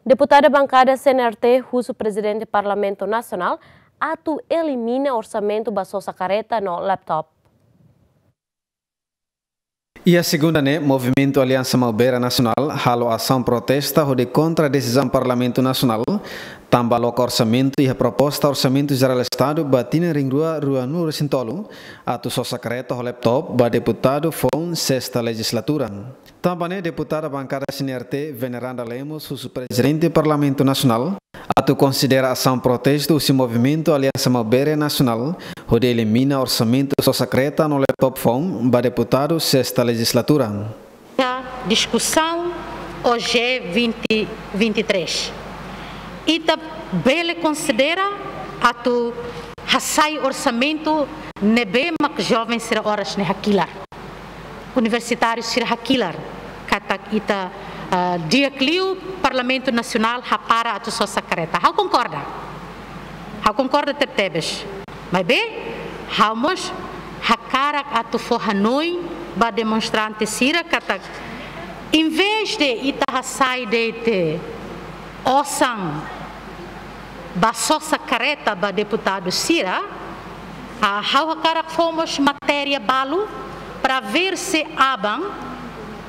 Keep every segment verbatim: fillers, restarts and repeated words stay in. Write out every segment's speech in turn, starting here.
Deputada bankada C N R T husu Prezidente Parlamentu Nasionál atu elimina orsamentu ba sosa kareta no laptop. Iha segunda ne'e, Movimentu Aliansa Maubere Nasionál halo asaun protesta hodi kontra desizaun Parlamentu Nasionál tanba loka orsamentu iha proposta Orsamentu Jerál Estadu ba tinan rihun rua ruanulu-resin-tolu atu sosa kareta ho laptop ba deputadu foun sesta lejizlatura. Tanba ne'e, deputada bankada C N R T, Veneranda Lemos, husu Prezidente Parlamentu Nasionál atu konsidera asaun protestu husi Movimentu Aliansa Maubere Nasionál hodi elimina orsamentu sosa kareta no laptop foun ba deputadu sesta lejizlatura. Diskusaun O G vinte vinte e três. Ita bele konsidera atu hasai orsamentu ne'ebé mak joven sira oras ne'e hakilar, universitáriu sira hakilar, katak ita, ah, di'ak liu Parlamentu Nasionál hapara atu sosa kareta. Ha'u konkorda. Ha'u konkorda tebetebes. Maibé, ha'u mós hakarak atu fó hanoin ba demonstrante sira katak, envezde ita hasai de'it osan ba sosa kareta ba deputadu sira, ah, ha'u hakarak fó mós matéria balu para ver se aban,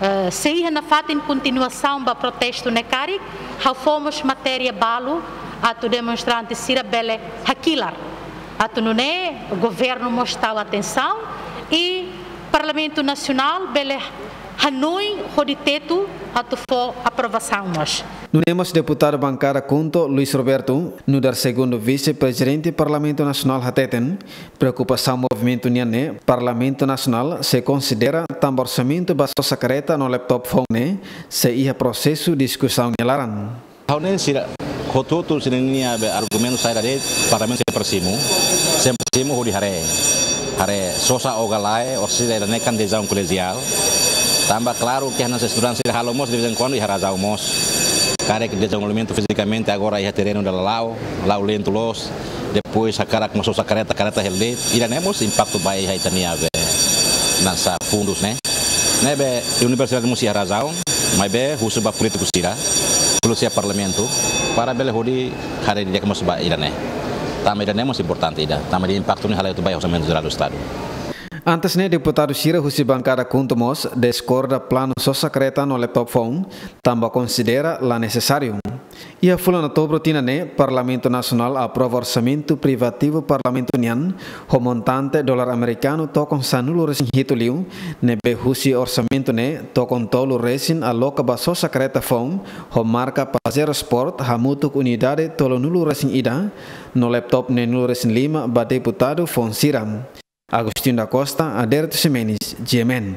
eh, se iha nafatin kontinuasaun ba protestu ne'e karik, ha'u fó mós matéria balu atu demonstrante sira bele hakilar. Atu nune'e governu mós tau atensaun i Parlamentu Nasionál bele hanoin hodi tetu atu fó aprovasaun mós. Nune'e mós deputadu bankada KHUNTO, Luis Roberto, nu'udar segundu vise-prezidente Parlamentu Nasionál hateten, preokupasaun movimentu nian ne'e Parlamentu Nasionál sei konsidera tanba orsamentu ba sosa kareta no laptop foun ne'e sei iha prosesu diskusaun nia laran. Ha'u ne'e sira hotu-hotu sira-nia be argumentu saida de'it, Parlamentu sempre simu, sempre simu hodi haree. Haree sosa ou ka lae, orsida ida-ne'e kan desizaun kolegiál. Tanba klaru ke hanesan estudante sira halo mós de vez em quando iha razaun mós. Karik dezenvolvimentu fizikamente agora iha terrenu dala la'o, la'o lentu loos. Depois hakarak mós sosa kareta, kareta hela de'it, ida-ne'e mós impaktu ba iha ita-nia be hanesan fundus ne'e. Ne'ebé universidade mós iha razaun, maibé husu ba polítiku sira, polísia Parlamentu, para bele hodi haree didi'ak mós ba ida-ne'e. Tanba ida-ne'e mós importante ida, tanba nia impaktu ne'e halai atu ba iha Orsamentu Jerál do Estadu. Antes ne'e deputadu sira husi bankada KHUNTO mós diskorda planu sosa kareta no laptop foun, tanba konsidera la nesesáriu. Iha fulan Outubru tinan ne'e, Parlamentu Nasionál aprova orsamentu privativu Parlamentu nian, ho montante dolar amerikanu tokon sanulu-resin-hitu liu, ne'ebé husi orsamentu ne'e tokon tolu resin aloka ba sosa kareta foun, ho marka Pajero Sport hamutuk unidade tolunulu-resin-ida, no laptop neenulu-resin-lima ba deputadu foun sira. Agostinho da Costa, Aderito Ximenes, G M N.